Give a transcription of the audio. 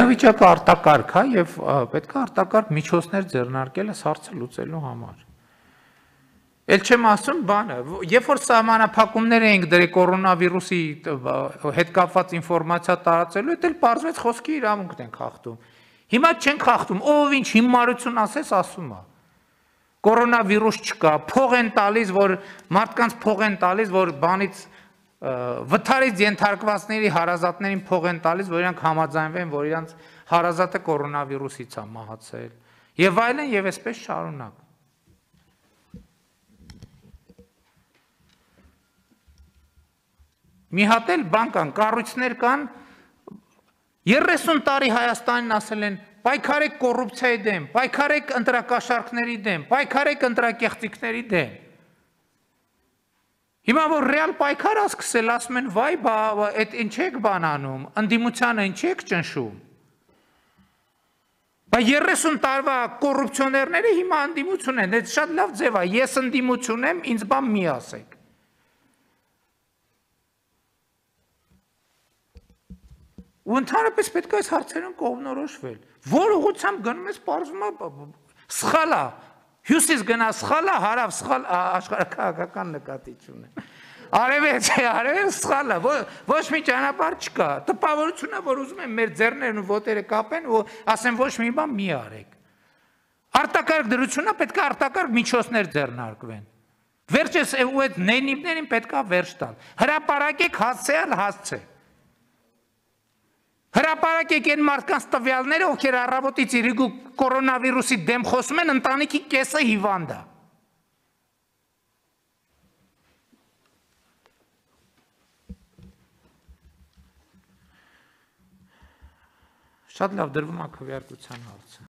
Վիճակը արտակարգ է եւ պետք է արտակարգ միջոցներ ձեռնարկել այս հարցը լուծելու համար։ Էլ չեմ ասում բանը, երբ որ սահմանափակումներ էինք դրել կորոնավիրուսի հետ կապված ինֆորմացիա տարածելու, դա էլ պարզվեց խոսքի իրավունքն ենք խախտում։ Հիմա չենք խախտում, ով ինչ հիմարություն ասես ասում է։ Կորոնավիրուս չկա, փող են տալիս, որ մարդկանց փող են տալիս, որ բանից վթարից ենթարկվածների հարազատներին փող են տալիս, որ իրանք համաձայնվեն, որ իրանք հարազատը կորոնավիրուսից է մահացել։ Եվ այլն եւ այսպես շարունակ։ Մի հատ էլ բան կան, կառույցներ կան, 30 տարի Հայաստանին ասել են, պայքարեք կոռուպցիայի դեմ, պայքարեք ընտրակաշառքների դեմ, պայքարեք ընտրակեղծիքների դեմ։ Հիմա որ ռեալ պայքար ասկսել, ասում են, վայ, այդ ինչ եք բան անում, ընդդիմությանը ինչ եք ճնշում։ Բայց 30 տարվա կոռուպցիոներները հիմա ընդդիմություն են, այդ շատ լավ ձև է, ես ընդդիմություն եմ, ինձ բան մի ասեք։ Ու ընդհանրապես պետք է այս հարցերում կողմնորոշվել։ Որ ուղղությամբ գնում ես, պարզվում է սխալ է, հյուսիս գնա սխալ է, հարավ սխալ աշխարհաքաղաքական նկատի չունեմ։ Արևելք սխալ է, ոչ մի ճանապարհ չկա։ Տպավորություն է, որ ուզում են մեր ձեռներն ու ոտերը կապեն ու ասեն ոչ մի բան մի արեք։ Արտակարգ դրությունը պետք է արտակարգ միջոցներ ձեռնարկվեն։ Վերջես ու այդ նենիվներին պետք է վերջ տալ։ Հրապարակեք հասցեալ հասցե։ Հրապարակեք այն մարդկանց տվյալները, ովքեր առավոտից իրիկու կորոնավիրուսի դեմ խոսում են, ընտանիքի կեսը հիվանդ է։ Շատ լավ, դրվում է քվեարկության հարցը։